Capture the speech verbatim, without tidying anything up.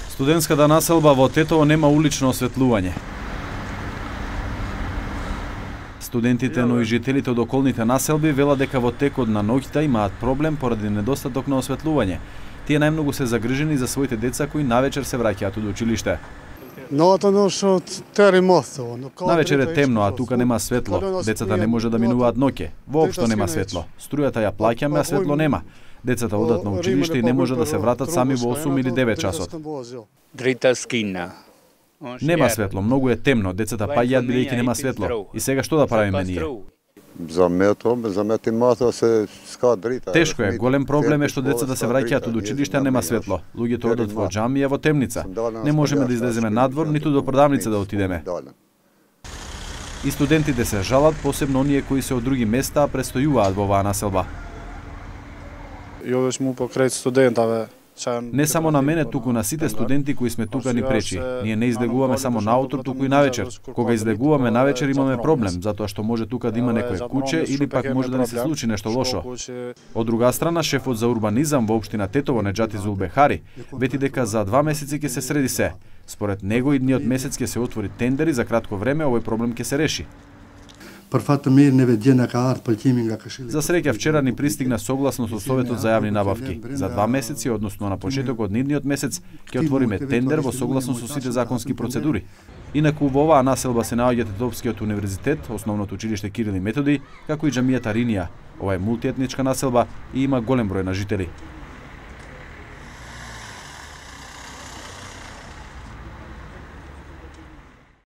Студентската населба во Тетово нема улично осветлување. Студентите, но и жителите од околните населби велат дека во текот на ноќта имаат проблем поради недостаток на осветлување. Тие најмногу се загрижени за своите деца кои навечер се враќаат од училиште. Навечер е темно, а тука нема светло. Децата не може да минуваат ноќе. Воопшто нема светло. Струјата ја плаќаме, а светло нема. Децата одат на училиште и не може да се вратат сами во осум или девет часот. Нема светло, многу е темно, децата паѓаат бидејќи нема светло. И сега што да правиме ние? Тешко е, голем проблем е што децата се враќаат од училиште, а нема светло. Луѓето одат во џамија, во темница. Не можеме да излеземе надвор, ниту до продавница да отидеме. И студентите се жалат, посебно оние кои се од други места, а престојуваат во оваа населба. Не само на мене, туку на сите студенти кои сме тука ни пречи. Ние не излегуваме само наутро, туку и навечер. Кога излегуваме навечер имаме проблем, затоа што може тука да има некое куче или пак може да ни се случи нешто лошо. Од друга страна, шефот за урбанизам во општина Тетово, Неџати Зулбехари, вети дека за два месеци ќе се среди се. Според него, идниот месец ќе се отвори тендер и за кратко време овој проблем ќе се реши. За среќа вчера ни пристигна согласно со Советот за јавни набавки. За два месеци, односно на почетокот на идниот месец, ќе отвориме тендер во согласно со сите законски процедури. Инаку во оваа населба се наоѓа Тетовскиот универзитет, основното училиште Кирил и Методи, како и џамијата Ринија. Ова е мултиетничка населба и има голем број на жители.